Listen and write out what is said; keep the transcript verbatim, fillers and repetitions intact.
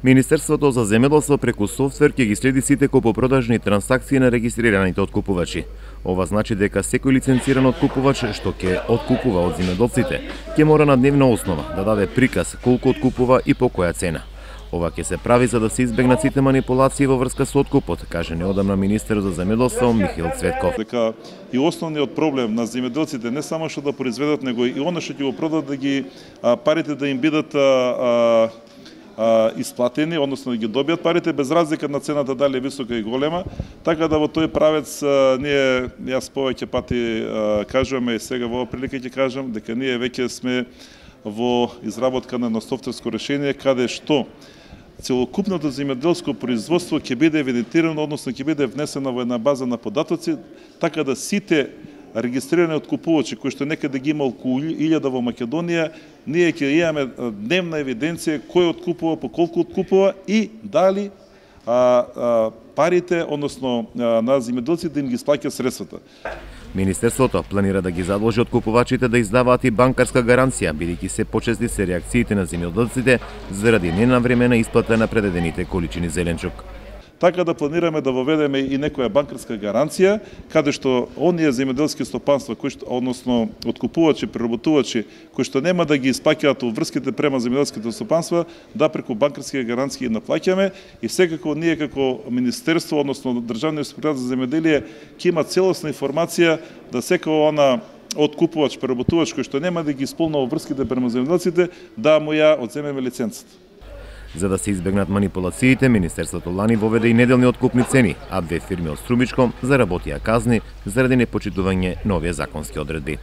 Министерството за земјоделство преку софтвер ќе ги следи сите купопродажни трансакции на регистрираните откупувачи. Ова значи дека секој лиценциран откупувач што ќе откупува од земјоделците ќе мора на дневна основа да даде приказ колку откупува и по која цена. Ова ќе се прави за да се избегнат сите манипулации во врска со откупот, каже неодамна министер за земјоделство Михаил Цветков. Дека и основниот проблем на земјоделците не само што да произведат, него и она што ќе го продадат да ги а, парите да им бидат а, а, исплатени, односно да ги добијат парите без разлика на цената дали е висока и голема, така да во тој правец а, ние јас повеќе пати а, кажуваме и сега во оваа прилика ќе кажам дека ние веќе сме во изработка на едно софтверско решение каде што целокупното земјоделско производство ќе биде евидентирано, односно ќе биде внесено во една база на податоци, така да сите регистрирани откупувачи кои што некаде ги има околу илјада во Македонија, ние ќе имаме дневна евиденција кој откупува, по колку откупува и дали а, а, парите, односно а, на земјоделците да им ги сплаќа средствата. Министерството планира да ги задолжи откупувачите да издаваат и банкарска гаранција, бидејќи се почести се реакциите на земјоделците заради ненавремена исплата на предадените количини зеленчук. Така да планираме да воведеме и некоја банкарска гаранција, каде што оние земјоделски стопанства, кои што, односно откупувачи, преработувачи, кои што нема да ги исплаќаат врските према земјоделските стопанства, да преку банкарски гаранции ги наплаќаме и секако ние како министерство, односно Државниот инспекторат за земјоделие ќе има целосна информација да секој она откупувач, преработувач кој што нема да ги исполнува врските према земјоделците, да му ја одземеме лиценцата. За да се избегнат манипулациите, Министерството лани воведе и неделни откупни цени, а две фирми од Струмичко заработија казни заради непочитување на овие законски одредби.